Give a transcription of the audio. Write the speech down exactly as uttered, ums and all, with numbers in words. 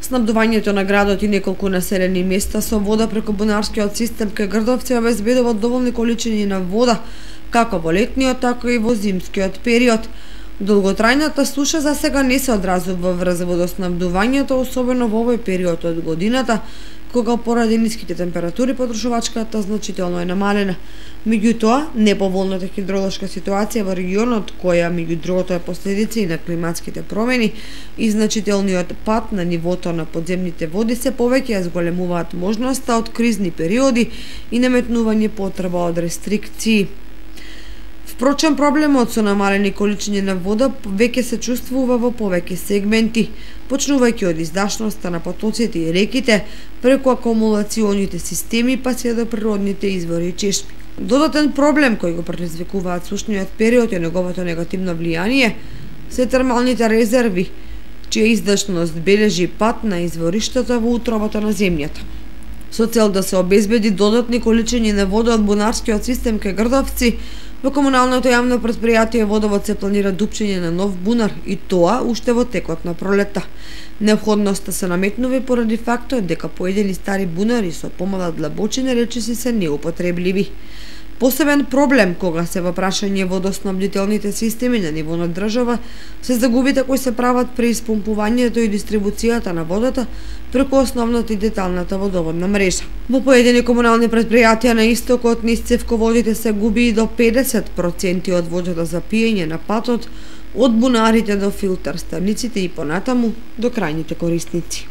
Снабдувањето на градот и неколку населени места со вода преку бунарскиот систем кај Грдовци обезбедува доволни количини на вода, како во летниот, така и во зимскиот период. Долготрајната суша за сега не се одразува врз водоснабдувањето, особено во овој период од годината, кога поради ниските температури потрошувачката значително е намалена. Меѓутоа, неповолната хидроложка ситуација во регионот, која меѓу другото е последица и на климатските промени и значителниот пад на нивото на подземните води, се повеќе ја зголемуваат можноста од кризни периоди и наметнување потреба од рестрикции. Впрочем, проблемот со намалени количини на вода веќе се чувствува во повеќе сегменти, почнувајќи од издашноста на потоците и реките, преку акумулационите системи, па се до природните извори и чешми. Додатен проблем кој го предизвикуваат сушниот период и неговото негативно влијание се термалните резерви, чија издашност бележи пад на извориштата во утробата на земјата. Со цел да се обезбеди додатни количини на вода од бунарскиот систем кај Грдовци, во комуналното јавно претпријатие Водовод се планира дупчење на нов бунар, и тоа уште во текот на пролетта. Неопходноста се наметнува поради фактот дека поедени стари бунари со помала длабочина речиси се неупотребливи. Посебен проблем кога се во прашање водоснабдителните системи на ниво на држава се загубите кои се прават при испомпувањето и дистрибуцијата на водата преку основната и деталната водоводна мрежа. Во поедини комунални претпријатија на истокот низ цевководите се губи и до педесет проценти од водата за пиење на патот од бунарите до филтер станиците и понатаму до крајните корисници.